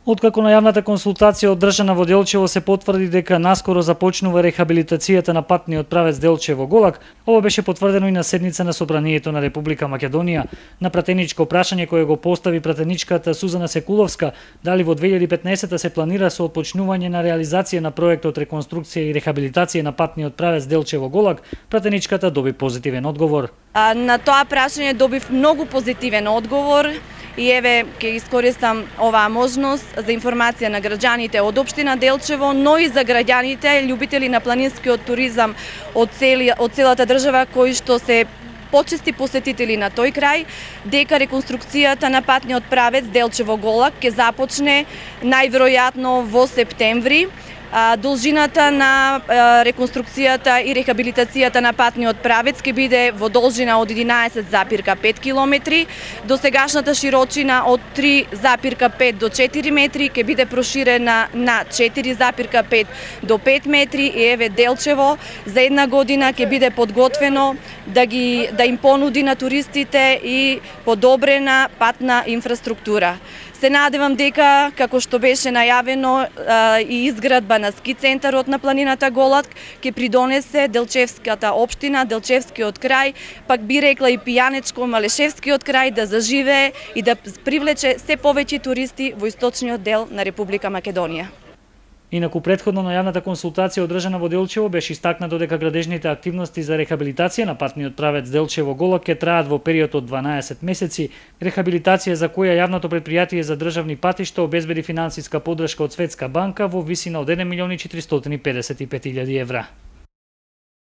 Откако на јавната консултација одржана во Делчево се потврди дека наскоро започнува рехабилитацијата на патниот правец Делчево-Голак, ова беше потврдено и на седница на Собранието на Република Македонија. На пратеничко прашање кое го постави пратеничката Сузана Секуловска, дали во 2015 се планира со отпочнување на реализација на проектот реконструкција и рехабилитација на патниот правец Делчево-Голак, пратеничката доби позитивен одговор. На тоа прашање добив многу позитивен одговор. И еве, ќе искористам оваа можност за информација на граѓаните од општина Делчево, но и за граѓаните, љубители на планинскиот туризам од целата држава, кои што се почести посетители на тој крај, дека реконструкцијата на патниот правец Делчево-Голак ќе започне најверојатно во септември. Должината на реконструкцијата и рехабилитацијата на патниот правец ќе биде во должина од 11,5 км, досегашната широчина од 3,5 до 4 метри ќе биде проширена на 4,5 до 5 метри и еве Делчево за една година ќе биде подготвено да им понуди на туристите и подобрена патна инфраструктура. Се надевам дека, како што беше најавено, и изградба на ски центарот на планината Голак ќе придонесе Делчевската општина, Делчевскиот крај, пак би рекла и Пијанечко-Малешевскиот крај да заживее и да привлече се повеќе туристи во источниот дел на Република Македонија. Инаку претходно на јавната консултација одржана во Делчево беше истакнато дека градежните активности за рехабилитација на патниот правец Делчево-Голак ќе траат во период од 12 месеци, рехабилитација за која јавното претпријатие за државни патишта обезбеди финансиска поддршка од Светска банка во висина од 1.455.000 евра.